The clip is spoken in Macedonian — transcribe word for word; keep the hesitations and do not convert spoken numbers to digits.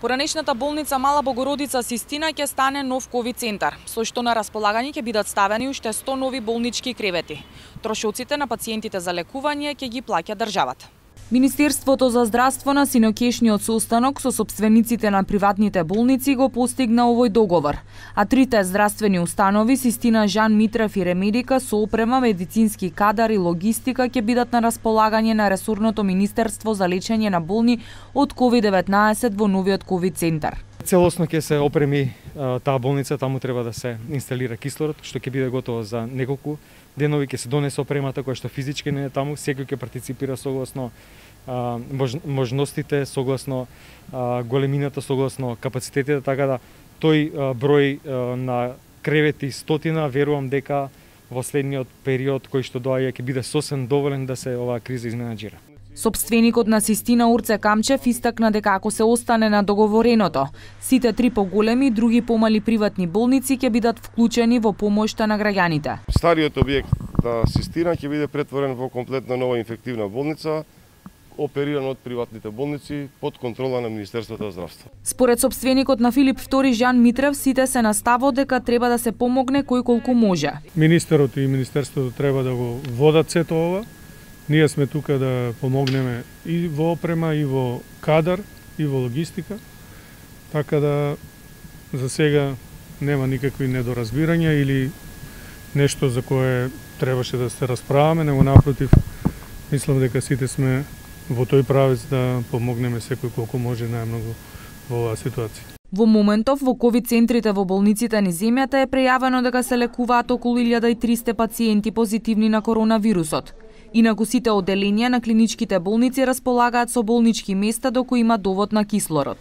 Поранешната болница Мала Богородица Систина ќе стане нов ковид центар, со што на располагање ќе бидат ставени уште сто нови болнички кревети. Трошоците на пациентите за лекување ќе ги плаќа државата. Министерството за здравство на синокешниот состанок со сопствениците на приватните болници го постигна овој договор, а трите здравствени установи Систина, Жан Митрев и Ремедика со опрема, медицински кадар и логистика ќе бидат на располагање на ресорното Министерство за лечење на болни од ковид деветнаесет во новиот ковид центар. Целосно ќе се опреми таа болница, таму треба да се инсталира кислород, што ќе биде готово за неколку денови, ќе се донесе опремата која што физички не е таму, секој ќе партиципира согласно а, мож, можностите, согласно а, големината, согласно капацитетите, така да тој а, број а, на кревети стотина, верувам дека во следниот период кој што доаѓа ќе биде сосем доволен да се оваа криза изменаџира. Собственикот на Систина Урце Камчев истакна дека ако се остане на договореното, сите три поголеми и други помали приватни болници ќе бидат вклучени во помошта на граѓаните. Стариот објект на Систина ќе биде претворен во комплетна нова инфективна болница, оперирана од приватните болници под контрола на Министерството за здравство. Според собственикот на Филип втори Жан Митрев, сите се на ставот дека треба да се помогне кој колку може. Министерот и Министерството треба да го водат сето ова. Ние сме тука да помогнеме и во опрема, и во кадар, и во логистика. Така да за сега нема никакви недоразбирања или нешто за кое требаше да се расправаме, него напротив, мислам дека сите сме во тој правец да помогнеме секој колку може најмногу во оваа ситуација. Во моментов во ковид центрите во болниците низ земјата е прејавено дека се лекуваат околу илјада и триста пациенти позитивни на коронавирусот. Инаку сите одделенија на клиничките болници располагаат со болнички места до кои има довод на кислород.